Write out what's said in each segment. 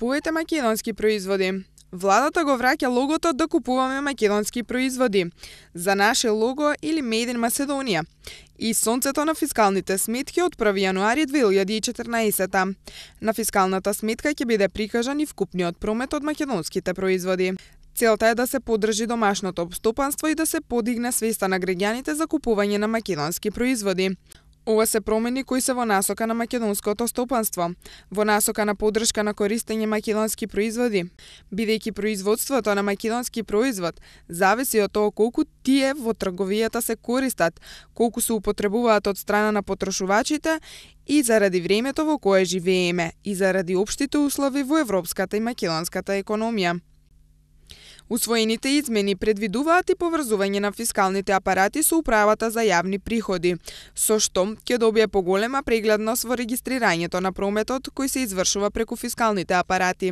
Купувајте македонски производи. Владата го враќа логото да купуваме македонски производи. За наше лого или Made in Macedonia. И сонцето на фискалните сметки од 1 јануари 2014. На фискалната сметка ќе биде прикажан и вкупниот промет од македонските производи. Целта е да се поддржи домашното опстопанство и да се подигне свеста на граѓаните за купување на македонски производи. Ова се промени кои се во насока на македонското стопанство, во насока на поддршка на користење македонски производи, бидејќи производството на македонски производ зависи од тоа колку тие во трговијата се користат, колку се употребуваат од страна на потрошувачите и заради времето во кое живееме и заради општите услови во европската и македонската економија. Усвоените измени предвидуваат и поврзување на фискалните апарати со управата за јавни приходи, со што ќе добие поголема прегледност во регистрирањето на прометот кој се извршува преку фискалните апарати.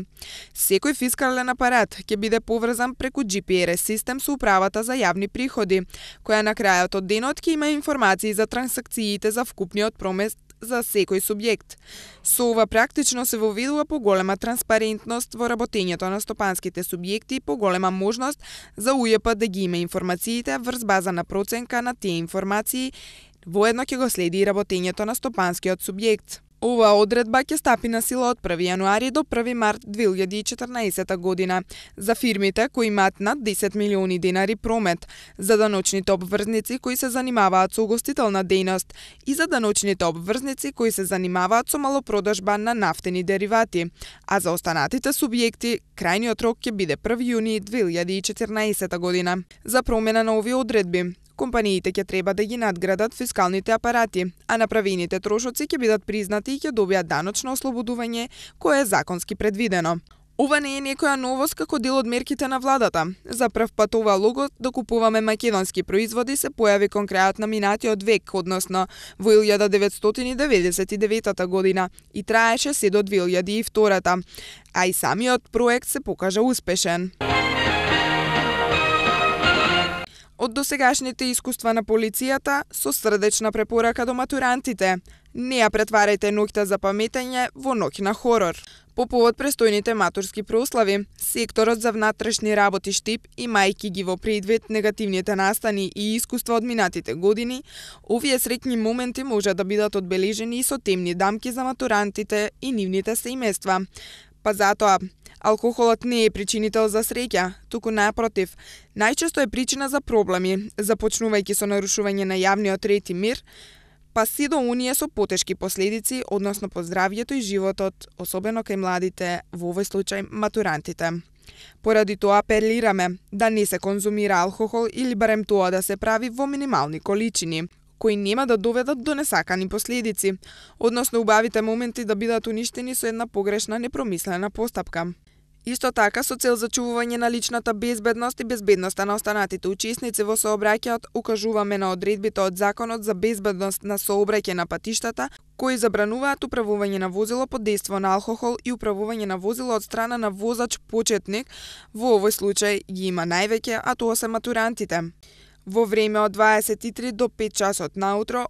Секој фискален апарат ќе биде поврзан преку GPS систем со управата за јавни приходи, која на крајот од денот ќе има информации за трансакциите за вкупниот промет за секој субјект. Со ова практично се воведува поголема транспарентност во работењето на стопанските субјекти и поголема можност за УЈП да ги има информациите врз база на проценка на тие информации, воедно ќе го следи и работењето на стопанскиот субјект. Оваа одредба ќе стапи на сила од 1 јануари до 1 март 2014 година за фирмите кои имаат над 10 милиони денари промет, за даночните обврзници кои се занимаваат со угостителна дејност и за даночните обврзници кои се занимаваат со малопродажба на нафтени деривати, а за останатите субјекти крајниот рок ќе биде 1 јуни 2014 година. За промена на овие одредби, компаниите ќе треба да ги надградат фискалните апарати, а направените трошоци ќе бидат признати и ќе добијат даночно ослободување кое е законски предвидено. Ова не е некоја новост како дел од мерките на владата. За прв пат ова лого да купуваме македонски производи се појави кон крајот на минатиот век, односно во 1999 година и траеше се до 2002, а и самиот проект се покажа успешен. Од досегашните искуства на полицијата, со срдечна препорака до матурантите, не ја претварајте ноќта за паметење во ноќ на хорор. По повод престојните матурски прослави, секторот за внатрешни работи ШТИП, имајќи ги во предвид негативните настани и искуства од минатите години, овие среќни моменти може да бидат одбележени и со темни дамки за матурантите и нивните семејства. Па затоа, алкохолот не е причинител за среќа, туку напротив, најчесто е причина за проблеми, започнувајќи со нарушување на јавниот ред и мир, па се до оние со потешки последици, односно по здравјето и животот, особено кај младите, во овој случај матурантите. Поради тоа апелираме да не се конзумира алкохол или барем тоа да се прави во минимални количини, кои нема да доведат до несакани последици, односно убавите моменти да бидат уништени со една погрешна, непромислена постапка. Исто така, со цел зачувување на личната безбедност и безбедноста на останатите учесници во сообраќајот, укажуваме на одредбите од Законот за безбедност на сообраќај на патиштата, кои забрануваат управување на возило под дејство на алкохол и управување на возило од страна на возач почетник, во овој случај ги има највеќе, а тоа се матурантите. Во време од 23 до 5 часот наутро,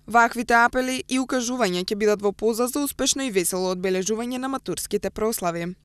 ваквите апели и укажувања ќе бидат во полза за успешно и весело одбележување на матурските прослави.